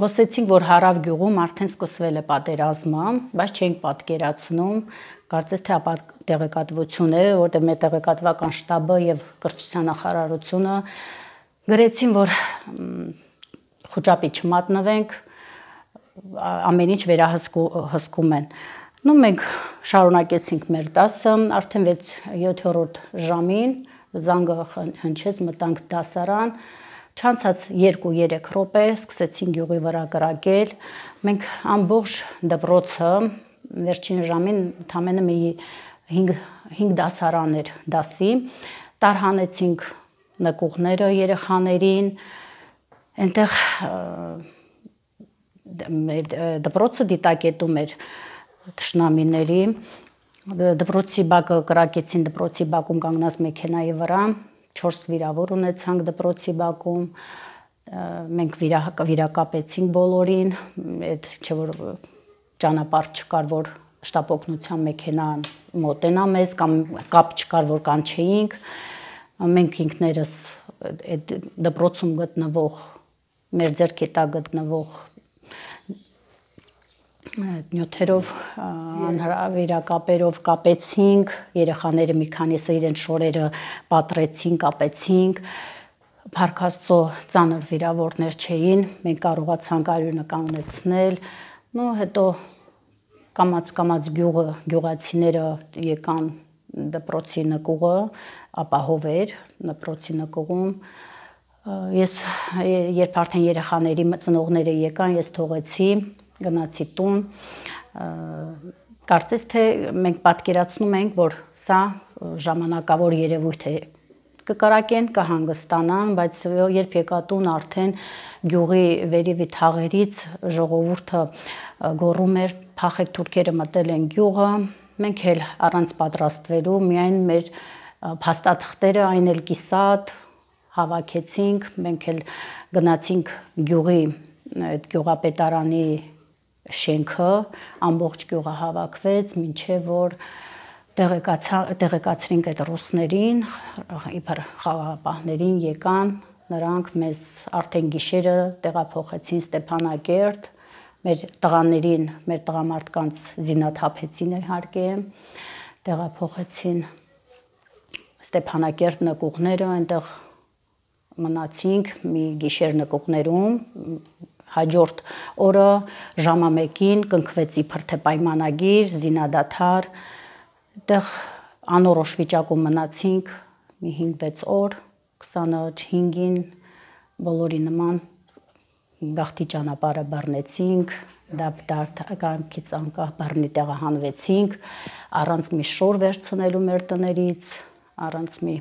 Լսեցինք, որ Հարավ գյուղում արդեն սկսվել է պատերազմը, բայց չենք պատկերացնում, կարծես թե ապա տեղեկատվություն է, որտեղ մեր տեղեկատվական շտաբը եւ կրթության նախարարությունը գրեցին, որ խոճապի չմատնվենք, ամեն ինչ վերահսկում են։ Մենք շարունակեցինք մեր դասը, արդեն 6-7-րդ ժամին զանգը հնչեց, մտանք դասարան, չանցած 2-3 րոպե սկսեցին գյուղի վրա կրակել, մենք ամբողջ դպրոցը վերջին ժամին ընդամենը մի 5 դասարան էր դասի, տարհանեցինք նկուղները երեխաներին, այնտեղ դպրոցը դիտակետում էր թշնամիների, դպրոցի բակը կրակեցին, դպրոցի բակում կանգնած մեքենայի վրա, 4 վիրավոր ունեցանք դպրոցի բակում, մենք վիրակապեցինք բոլորին, այդ չէ որ ճանապարհ չկար, որ շտապօգնության մեքենան մոտենա մեզ, կամ կապ չկար, որ կանչեինք, մենք ինքներս այդ դպրոցում գտնվող, մեր ձեռքի տակ գտնվող նյութերով, վիրակապերով կապեցինք, երեխաները մի քանիսը իրենց շորերը պատռեցին, կապեցինք, Փառք Աստծո ծանր վիրավորներ չէին, մենք կարողացանք արյունը կանգնեցնել, հետո կամաց գյուղացիները եկան դպրոցի նկուղը, ապահով էր դպրոցի նկուղում, ես երբ արդեն երեխաների ծնողները եկան, ես թողեցի, գնացի տուն, կարծես թե մենք պատկերացնում ենք, որ սա ժամանակավոր երևույթ է, կկրակեն, կհանգստանան, բայց երբ եկա տուն արդեն գյուղի վերևի թաղերից ժողովուրդը գոռում էր, փախեք թուրքերը մտել են գյուղը, մենք էլ առանց պատրաստվելու, միայն մեր փաստաթղթերը, այն էլ կիսատ հավաքեցինք, մենք էլ գնացինք գյուղի այդ գյուղապետարանի շենքը, ամբողջ գյուղը հավաքվեց, մինչև որ տեղեկացրինք այդ ռուսներին, իբր խաղաղապահներին եկան, նրանք մեզ արդեն գիշերը տեղափոխեցին Ստեփանակերտ, մեր տղաներին, մեր տղամարդկանց զինաթափեցին իհարկե, տեղափոխեցին Ստեփանակերտ նկուղները, այնտեղ մնացինք մի գիշեր նկուղներում, հաջորդ օրը ժամը 1-ին կնքվեց իբր թե պայմանագիր, զինադադար, այդտեղ անորոշ վիճակում մնացինք մի 5-6 օր, 25-ին բոլորի նման գաղթի ճանապարհը բռնեցինք, դարձանկից անկախ բռնի տեղահանվեցինք, առանց մի շոր վերցնելու մեր տներից, առանց մի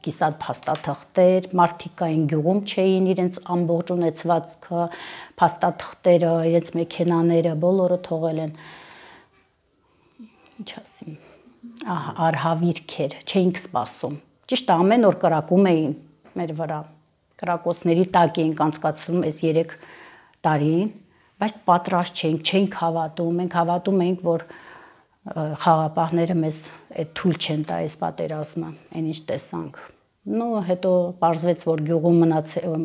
կիսատ փաստաթղթեր, մարդիկ կային գյուղում չէին, իրենց ամբողջ ունեցվածքը, փաստաթղթերը, իրենց մեքենաները, բոլորը թողել են, ինչ ասեմ, արհավիրք էր, չէինք սպասում, ճիշտ է ամեն օր կրակում էին մեր վրա, կրակոցների տակ էինք անցկացնում այս 3 տարին, բայց պատրաստ չէինք հավատում, մենք հավատում էինք, որ խաղապահները մեզ այդ թույլ չեն տա այս պատերազմը, այն ինչ տեսանք, հետո պարզվեց, որ գյուղում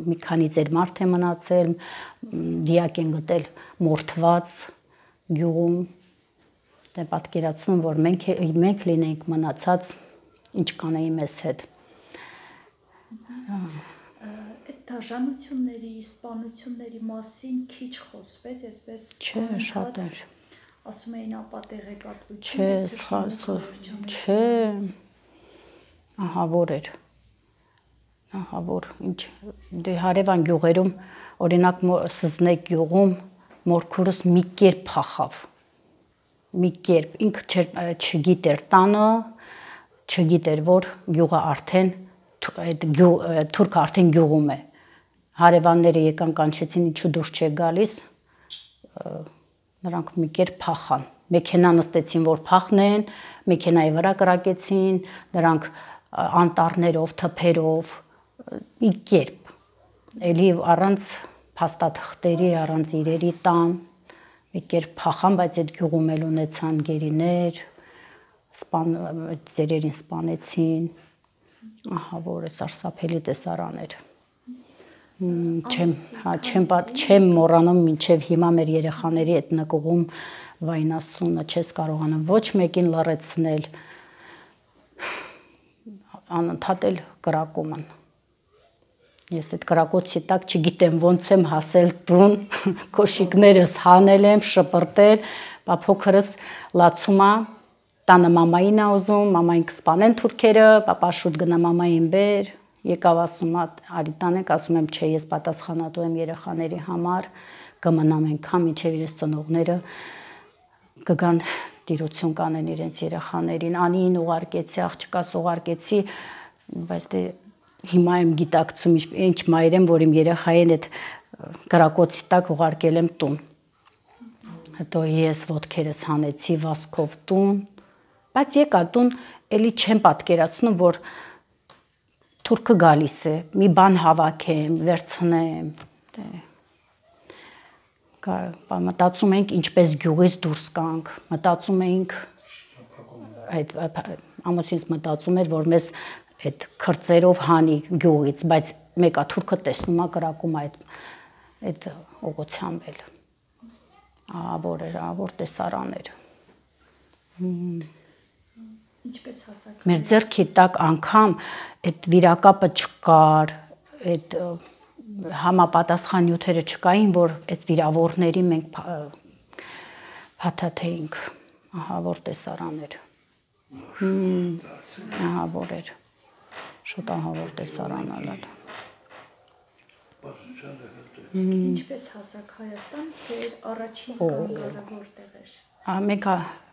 մի քանի ծեր մարդ է մնացել, դիակ են գտել մորթված գյուղում, պատկերացնում, որ մենք լինենք մնացած, ինչ կանեի մեզ հետ։ Այդ դաժանությունների, սպանությունների մասին քիչ խոսվեց, այսպես չէ, շատ էր։ Ասում էին ապա տեղեկատվություն, չէ, ահավոր էր, ահավոր, ինչ, դե հարևան գյուղերում, օրինակ Սզնեկ գյուղում մորքուրս մի կերպ փախավ, մի կերպ, ինքը չգիտեր տանը, չգիտեր, որ գյուղը արդեն, թուրքը արդեն գյուղում է, հարևանները եկան կանչեցին, ինչու դուրս չեք գալիս, նրանք մի կերպ փախան, մեքենա նստեցին, որ փախնեն, մեքենայի վրա կրակեցին, նրանք անտառներով, թփերով, մի կերպ, էլի առանց փաստաթղթերի, առանց իրերի տան, մի կերպ փախան, բայց այդ գյուղում էլ ունեցան գերիներ, ծերերին սպանեցին, ահա որ է սարսափելի տեսարան էր։ Չեմ մոռանում մինչև հիմա մեր երեխաների այդ նկուղում վայնասունը չես կարողանում ոչ մեկին լռեցնել, անընդհատ էլ կրակում են։ Ես այդ կրակոցի տակ չգիտեմ ոնց եմ հասել տուն, կոշիկներս հանել եմ, շպրտել, բա փոքրս լացում է, տանը մամային է ուզում, մամային կսպանեն թուրքերը, պապա շուտ գնա մամային բեր, եկավ ասում արի տանենք, ասում եմ չէ, ես պատասխանատու եմ երեխաների համար, կմնամ այնքան մինչև իրենց ծնողները կգան տիրություն կանեն իրենց երեխաներին, անին ուղարկեցի, աղջկաս ուղարկեցի, բայց դե հիմա եմ գիտակցում ինչ մայր եմ, որ իմ երեխային այդ կրակոցի տակ ուղարկել եմ տուն։ Հետո ես ոտքերս հանեցի վազքով տուն, բայց եկա տուն, էլի չեմ պատկերացնում, որ թուրքը գալիս է, մի բան հավաքեմ, վերցնեմ, մտածում ենք ինչպես գյուղից դուրս գանք, մտածում ենք, ամուսինս մտածում էր, որ մեզ այդ քրծերով հանի գյուղից, բայց մեկա թուրքը տեսնում է կրակում այդ ուղղությամբ էլ, ավոր տեսարան էր։ Ինչպես հասակ։ Մեր ձեռքի տակ անգամ այդ վիրակապը չկար, այդ համապատասխան նյութերը չկային, որ այդ վիրավորների մենք փաթաթեինք, որ տեսարան էր։ Որ էր, շուտ որ տեսարան ալալ։ Ինչպես հասակ Հայաստան, ձեր առաջին կանգառը որտեղ էր։ Մենք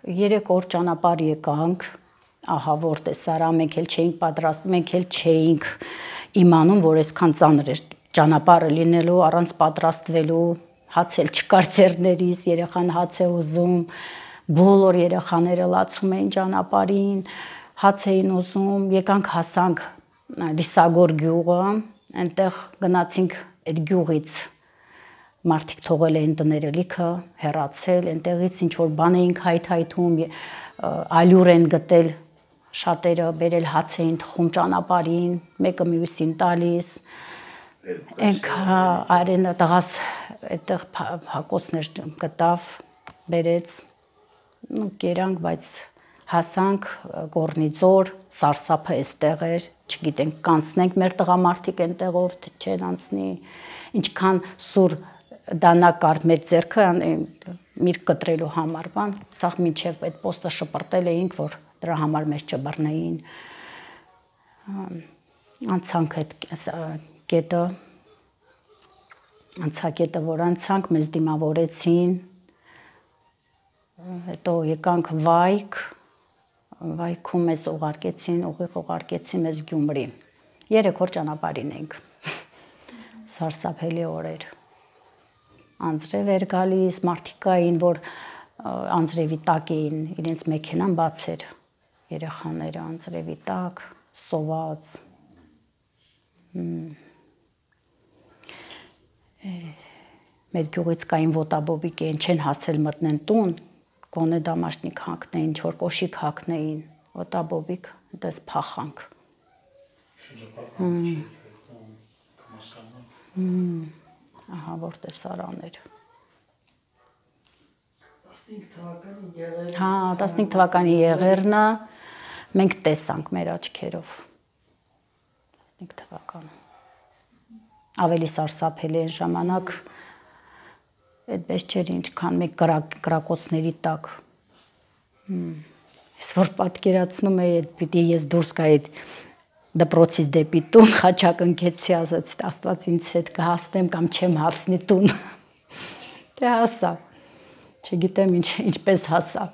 3 օր ճանապարհ եկանք, որ տեսարա, մենք էլ չէինք պատրաստ, մենք էլ չէինք իմանում, որ այսքան ծանր էր ճանապարհը լինելու, առանց պատրաստվելու, հաց էլ չկար ձեռներիս, երեխան հաց է ուզում, բոլոր երեխաները լացում էին ճանապարհին, հաց էին ուզում, եկանք հասանք Լիսագոր գյուղը, այնտեղ գնացինք այդ գյուղից մարդիկ թողել էին տները լիքը, հեռացել, այնտեղից ինչ որ բան էինք հայթայթում, ալյուր են գտել, շատերը բերել հաց էին թխում ճանապարհին, մեկը մյուսին տալիս, ենք արենը տղաս այդտեղ հակոցներ գտավ, բերեց, կերանք, բայց հասանք Գորնիձոր, սարսափը այստեղ էր, չգիտենք կանցնենք մեր տղամարդիկ այնտեղով, թե չեն անցնի, ինչքան սուր դանակ կար մեր ձեռքը միրգ կտրելու համար բան, սաղ մինչև այդ պոստը շպրտել էինք, որ դրա համար մեզ չբռնեին, անցանք այդ կետը, անցակետը, որ անցանք, մեզ դիմավորեցին, հետո եկանք Վայք, Վայքում մեզ ուղարկեցին մեզ Գյումրի, 3 օր ճանապարհին ենք, սարսափելի օրեր, անձրև էր գալիս, մարդիկ կային, որ անձրևի տակ էին, իրենց մեքենան բաց էր, երեխաները անձրևի տակ, սոված, մեր գյուղից կային ոտաբոբիկ էին, չեն հասել մտնեն տուն, գոնե դամաշնիկ հագնեին, ինչ որ կոշիկ հագնեին, ոտաբոբիկ, այդպես փախանք։ Որ տեսարան էր։ 15 թվականի եղերնը մենք տեսանք մեր աչքերով։ 15 թվականը։ Ավելի սարսափելի այն ժամանակ այդպես չէր ինչքան մեկ կրակոցների տակ։ Ես որ պատկերացնում էի, պիտի ես դուրս գայի դպրոցից դեպի տուն, խաչակ ընկեցի, ասացի Աստված ինձ հետ կհասնեմ կամ չեմ հասնի տուն։ Դե հասա։ Չգիտեմ ինչպես հասա։